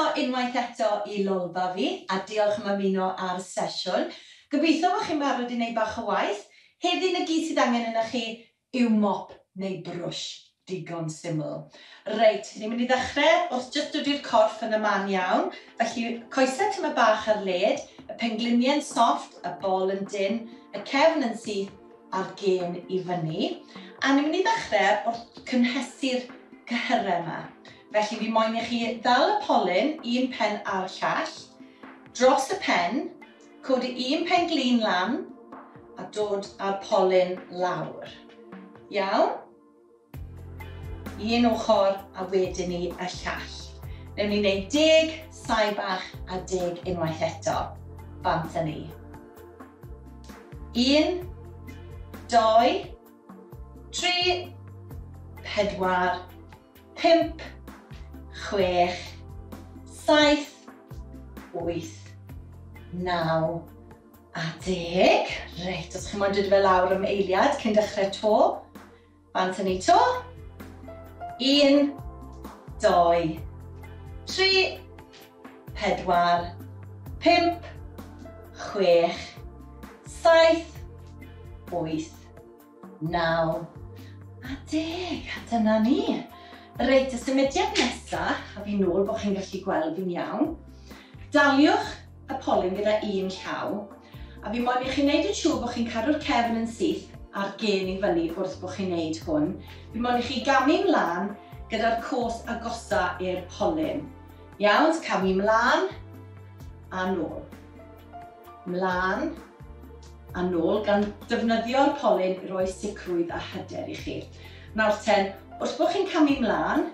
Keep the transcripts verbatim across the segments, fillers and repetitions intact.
Croeso unwaith eto i Lolfa fi, a diolch am ymuno ar sesiwn. Gobeithio bod chi'n barod i wneud bach o waith. Heddi 'na gyd sydd angen yna chi yw mop neu brwsh. Digon syml. Reit, ni'n mynd i ddechrau wrth jyst dod i'r corff yn y man iawn. Felly, coesau tyma bach ar led, y pengliniau'n soft, y bol yn dyn, y cefn yn syth a'r gen i fyny. A ni'n mynd i ddechrau wrth cynhesu'r cyhyrau yma. Felly fi moyn i chi ddal y polyn, un pen a'r llall, dros y pen, codi un pen glin lan a dod â'r polyn lawr. Iawn? Un ochr a wedyn ni y llall. Newn ni wneud deg, saib bach a deg unwaith eto. Bant â ni. Un, dau, tri, pedwar, pump, chwech, saith, wyth, naw a deg. Reit, os chi'n moyn dod fe lawr am eiliad cyn dechrau to, bant â ni to. Un, dau, tri, pedwar, pump, chwech, saith, wyth, naw a deg. A dyna ni. Reit, y symudiad nesaf, a fi nôl bod chi'n gallu gweld fi'n iawn. Daliwch y polyn gyda un llaw, a fi moyn i chi wneud yn siŵr bod chi'n cadw'r cefn yn syth a'r gen i fyny wrth bod chi'n wneud hwn. Fi moyn i chi gamu mlaen gyda'r cos agosa i'r polyn. Iawn, so camu mlaen a nôl. Mlaen a nôl, gan defnyddio'r polyn i roi sicrwydd a hyder i chi. Nawr ten, wrth bod chi'n camu mlaen,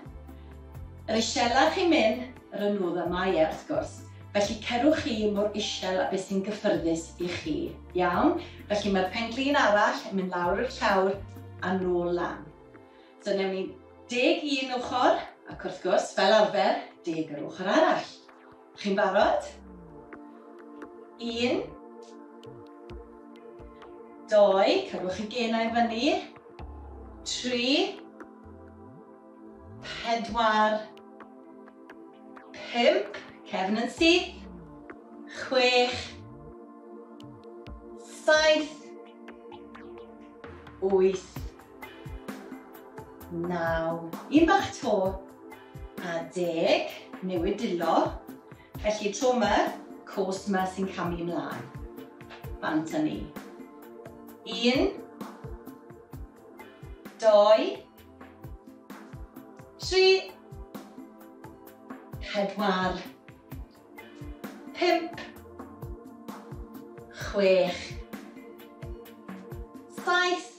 yr isela chi'n mynd, yr anodda mae e wrth gwrs. Felly cerwch chi mor isel a beth sy'n gyffyrddus i chi. Iawn? Felly mae'r penglin arall yn mynd lawr i'r llawr a nôl lan. So newn ni deg un ochr, ac wrth gwrs, fel arfer, deg yr ochr arall. Chi'n barod? Un, dau, cadwch y genau fyny, tri, pedwar, pump, cefn yn syth, chwech, saith, wyth, naw, un bach to, a deg, newid dwylo. Felly tro yma, cos yma sy'n camu ymlaen. Bant â ni. Un, dau, tri, pedwar, pump, chwech, saith,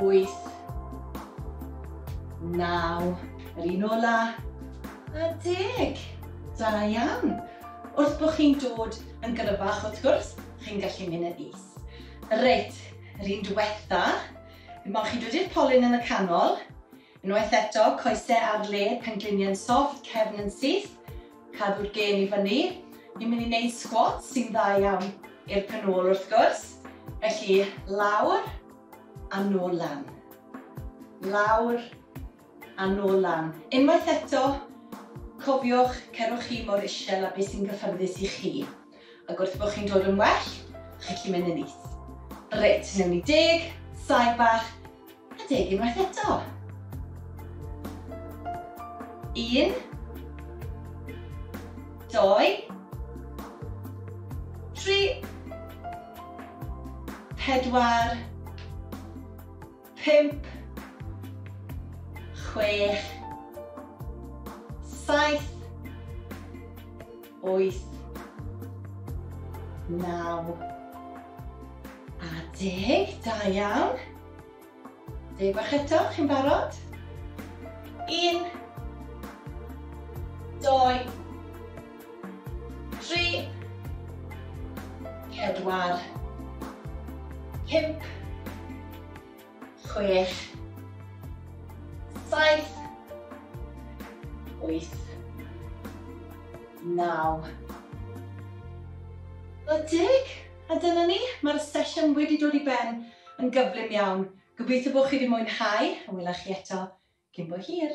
wyth, naw, yr un ola, a deg. Da iawn. Wrth bod chi'n dod yn gryfach wrth gwrs, chi'n gallu mynd yn is. Reit, yr un diwetha, fi moyn chi dod i'r polyn yn y canol. Unwaith eto, coesau ar led, pengliniau'n soft, cefn yn syth, cadw'r gen i fyny. Ni'n mynd i wneud squats sy'n dda iawn i'r pen ôl wrth gwrs. Felly, lawr a nôl lan. Lawr a nôl lan. Unwaith eto, cofiwch, cerwch chi mor isel a beth sy'n gyffyrddus i chi. Ac wrth bod chi'n dod yn well, chi'n gallu mynd yn is. Reit, newn ni deg, saib bach, a deg unwaith eto. Un, dau, tri, pedwar, pump, chwech, saith, wyth, naw, a deg. Da iawn. Deg bach eto, chi'n barod? Un, dau, tri, pedwar, pump, chwech, saith, wyth, naw, a deg. A dyna ni, mae'r sesiwn wedi dod i ben yn gyflym iawn. Gobeithio bod chi wedi mwynhau, a wela chi eto cyn bo hir.